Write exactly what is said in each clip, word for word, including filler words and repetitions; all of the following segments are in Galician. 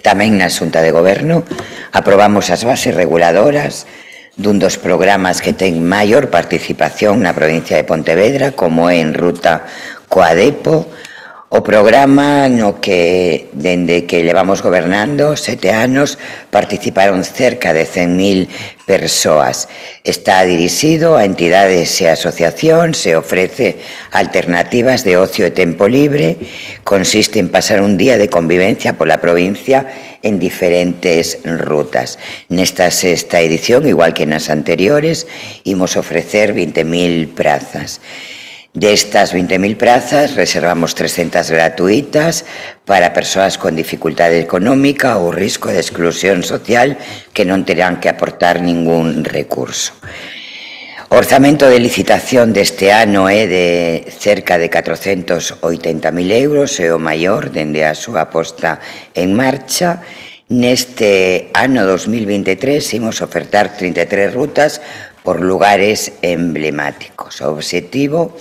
Tamén na Xunta de Goberno aprobamos as bases reguladoras dun dos programas que ten maior participación na provincia de Pontevedra, como é En Ruta Coadepo, o programa no que, dende que levamos gobernando sete anos, participaron cerca de cen mil persoas. Está dirixido a entidades e asociacións e ofrece alternativas de ocio e tempo libre. Consiste en pasar un día de convivencia pola provincia en diferentes rutas. Nesta sexta edición, igual que nas anteriores, imos ofrecer vinte mil prazas. Destas vinte mil prazas, reservamos trescentas gratuitas para persoas con dificultade económica ou risco de exclusión social que non terán que aportar ningún recurso. O orzamento de licitación deste ano é de cerca de catrocentos oitenta mil euros, é o maior dende a súa posta en marcha. Neste ano dos mil veintitrés imos ofertar trinta e tres rutas por lugares emblemáticos. O obxectivo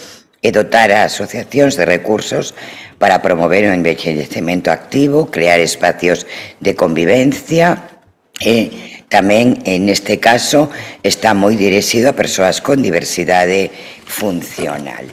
e dotar a asociacións de recursos para promover o envellecemento activo, crear espacios de convivencia e tamén, neste caso, está moi dirixido a persoas con diversidade funcional.